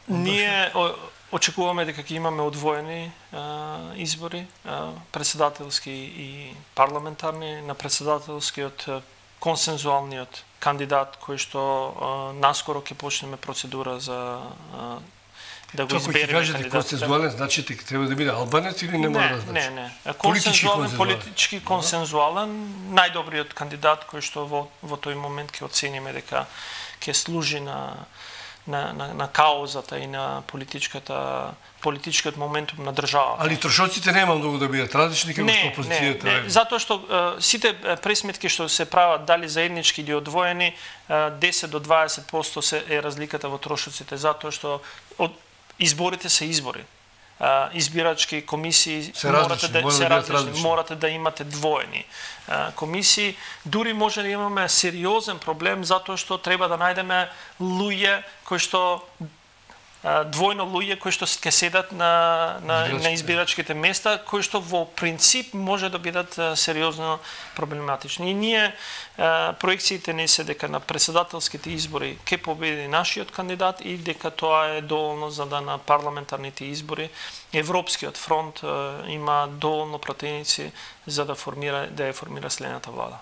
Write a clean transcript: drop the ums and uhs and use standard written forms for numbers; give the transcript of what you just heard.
Ние очекуваме дека ќе имаме одвоени избори, председателски и парламентарни. На председателскиот консензуалниот кандидат кој што наскоро ќе почнеме процедура за да го избереме кандидат. Кажете консензуален, значи дека треба да биде албанец или не мора да значи? Не. Политички консензуален, најдобриот кандидат кој што во тој момент ќе оцениме дека ќе служи на каузата и на политичкиот моментум на државата. Али трошоците нема многу да бидат различни како што опозицијата. Не, затоа што сите пресметки што се прават дали заеднички или одвоени, 10 до 20% е разликата во трошоците, затоа што изборите се избори. Избирачки комисии морате да имате двоени комисии. Дури може да имаме сериозен проблем затоа што треба да најдеме луѓе кои што двојно луѓе кои што ќе седат на избирачките места, кои што во принцип може да бидат сериозно проблематични. И ние проекциите не се дека на председателските избори ќе победи нашиот кандидат и дека тоа е доволно за да на парламентарните избори Европскиот фронт има доволно противници за да ја формира следната влада.